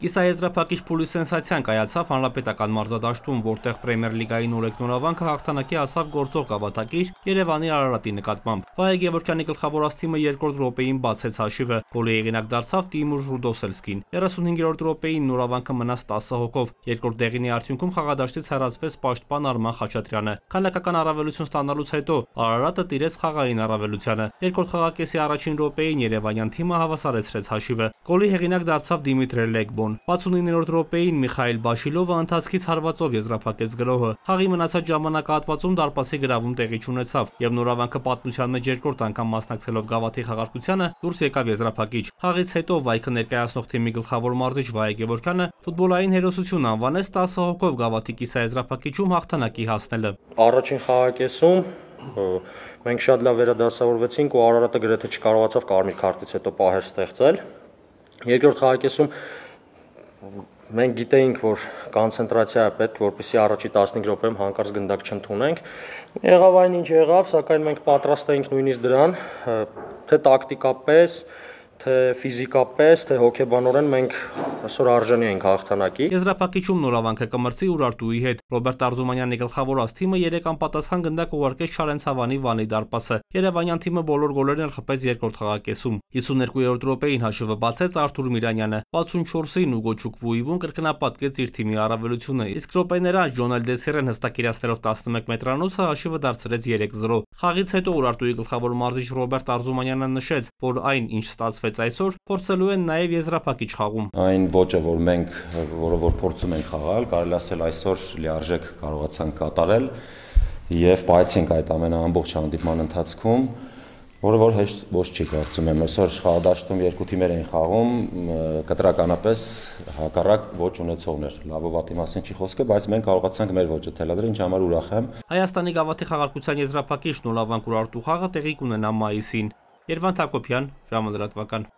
Կիսաեզրափակիչ փուլի սենսացիան կայացավ հանրապետական մարզադաշտում, որտեղ Պրեմիեր լիգայի նորեկ նորավանքը հաղթանակի հասավ գործող գավաթակիր Երևանի Արարատի նկատմամբ։ Վահե Գևորգյանի գլխավորած թիմը երկրորդ րոպեին բացեց հաշիվը, գոլի հեղինակ դարձավ Տիմուր Ռուդոսելսկին։ 35-րդ րոպեին նորավանքը մնաց 10 հոգով։ Երկրորդ դեղինի արդյունքում խաղադաշտից հեռացվեց պաշտպան Արման Խաչատրյանը։ Քանակական առավելություն ստանալուց հետո Արարատը տիրեց խաղային առավելությանը։ Երկրորդ խաղակեսի առաջին րոպեին երևանյան թիմը հավասարեցրեց հաշիվը։ Գոլի հեղինակ դարձավ Դիմիտրե Լեգբոն։ 69-րդ րոպեին Միխայել Բաշիլովը ընթացքից հարվածով եզրափակեց գրոհը։ Խաղի մնացած ժամանակահատվածում դարպասի գրավում տեղի չունեցավ, եւ նորավանքը պատմության մեջ երկրորդ անգամ մասնակցելով գավաթի խաղարկությանը դուրս եկավ եզրափակիչ։ Խաղից հետո Վայքը ներկայացնող թիմի գլխավոր մարզիչ Վահե Գևորգյանը ֆուտբոլային հերոսություն անվանեց 10 հոգով գավաթի կիսաեզրափակիչում հաղթանակի հասնելը։ Առաջին խաղակեսում մենք շատ լավ վերադասավորվեցինք ու Արարատը գրեթե չկարողացավ կարմիր քարտից հետո պահեր ստեղծել։ Երկրորդ խաղակեսում մենք գիտեինք, որ կոնցենտրացիա է պետք, որպեսզի առաջի 15 րոպեում հանկարծ գնդակ չընդունենք։ Եղավ այն ինչ եղավ, սակայն մենք պատրաստ էինք նույնիսկ դրան, թե տակտիկապես, թե ֆիզիկապես, թե հոգեբանորեն մենք այսօր արժանի ենք հաղթանակի։ Եզրափակիչում նորավանքը կմրցի Ուրարտուի հետ։ Ռոբերտ Արզումանյանի գլխավորած թիմը 3 անպատասխան գնդակ ուղարկեց Չարենցավանի Վանի դարպասը։ Երևանյան թիմը բոլոր գոլերն խփեց երկրորդ խաղակեսում։ 52-րդ րոպեին հաշիվը բացեց Արթուր Միրանյանը։ 64-ին Ուգո Չուկվուիվուն կրկնապատկեց իր թիմի առավելությունը, իսկ րոպեներ անց Ջոնել Դեսիրեն հստակ իրացնելով 11 մետրանոցը հաշիվը դարձրեց 3-0։ Խաղից հետո Ուրարտուի գլխավոր մարզիչ Ռոբերտ Արզումանյանը նշեց, որ այն, ինչ ստացվեց այսօր, փորձելու են նաև եզրափակիչ խաղում։ Այն ոճը, որ փորձում ենք խաղալ, կարելի ասել այսօր լիարժեք կարողացանք կատարել եւ պայեցինք այդ ամենը ամբողջ հանդիպման ընթացքում, որը հեշտ ոչ չի կարծում եմ։ Այսօր խաղադաշտում երկու թիմեր էին խաղում, կտրականապես հակառակ ոչ ունեցողներ։ Լավ ու վատի մասին չի խոսքը, բայց մենք կարողացանք մեր ոճը թելադրել, ինչի համար ուրախ եմ։ Հայաստանի գավաթի խաղարկության եզրափակիչ նորավանք Ուրարտու խաղը տեղի կունենա մայիսին։ Երվանդ Հակոբյան, ժամը լրատվական։